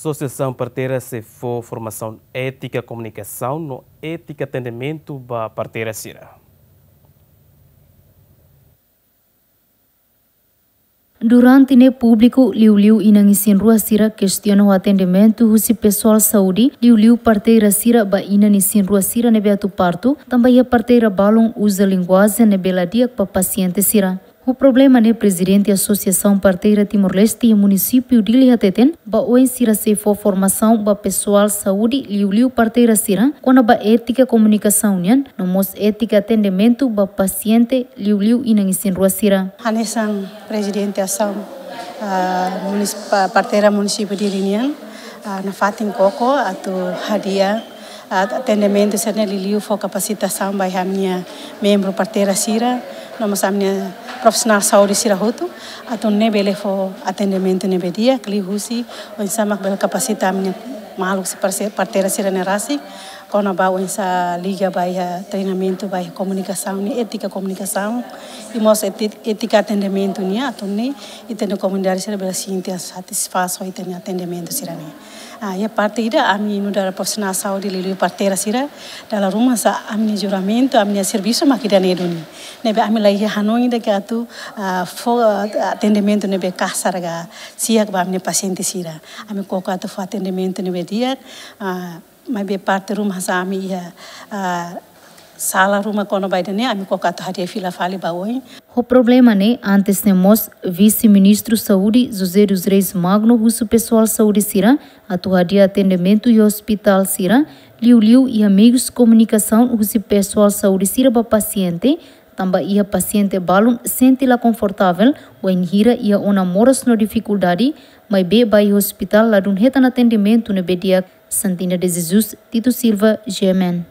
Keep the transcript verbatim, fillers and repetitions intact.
Asosiasaun parteira sei fó formasaun étika komunikasaun no étika atendimentu ba parteira sira. Durante ne'e públiku liuliu inan isin-rua sira kestiona ho atendimentu husi pesoál saúde, liuliu parteira sira ba inan isin-rua sira ne'ebé atu partu, tanba iha parteira balun uza linguajen ne'ebé la di'ak ba pasiente sira. Ho problema ne'e Prezidente Asosiasaun Parteira Timor-Leste iha Munisípiu Dili hateten, ba oin sira sei fó formasaun ba pesoál saúde liuliu parteira sira, kona-ba étika komunikasaun nian, no mós étika atendimentu ba pasiente liuliu inan isin-rua sira. Hanesan Prezidente Asaun, ah, munis-, pa-, Parteira Munisípiu Dili nian, ah, nafatin koko atu hadi'a, ah, atendimentu sira-ne'e liuliu fó kapasitasaun ba iha ami-nia membru parteira sira, no mós ami-nia profisionál saúde sira hotu, atu nune'e bele fó atendimentu ne'ebé di'ak, liuhusi oinsá mak bele kapasita ami-nia maluk sira, parse-, parteira sira-ne'e rasik, kona-ba oinsá liga ba iha treinamentu ba iha komunikasaun, ne'e étika komunikasaun, i mós éti-, étika atendimentu nian, atu nune'e ita-nia komunidade sira bele sente satisfás ho ita-nia atendimentu sira-ne'e. Ah, iha parte ida ami nu'udar profisionál saúde liuliu parteira sira, dala ruma hanesan ami-nia juramentu, ami-nia servisu mak ida-ne'e duni. Ne'ebé ami la iha hanoin ida ke atu, ah, fó, ah, atendimentu ne'ebé kasar ka si'ak ba ami-nia pasiente sira. Ami koko atu fó atendimentu ne'ebé di'ak, ah, maibé parte ruma hanesan ami iha, ah, sala ruma kona-ba ida-ne'e, ami koko atu hadi'a fila fali ba oin. Ho problema ne'e, antes ne'e mós, Vise-Ministru Saúde, José dos Reis Magno, husu pesoál saúde sira atu hadi'a atendimentu iha ospitál sira, liuliu iha meius komunikasaun husi pesoál saúde sira ba pasiente, tanba iha pasiente balun sente la konfortavel, wainhira iha ona moras no difikuldade, maibé ba iha ospitál ladún hetan atendimentu ne'ebé di'ak. Santina de Jesus, Tito Silva, G M N.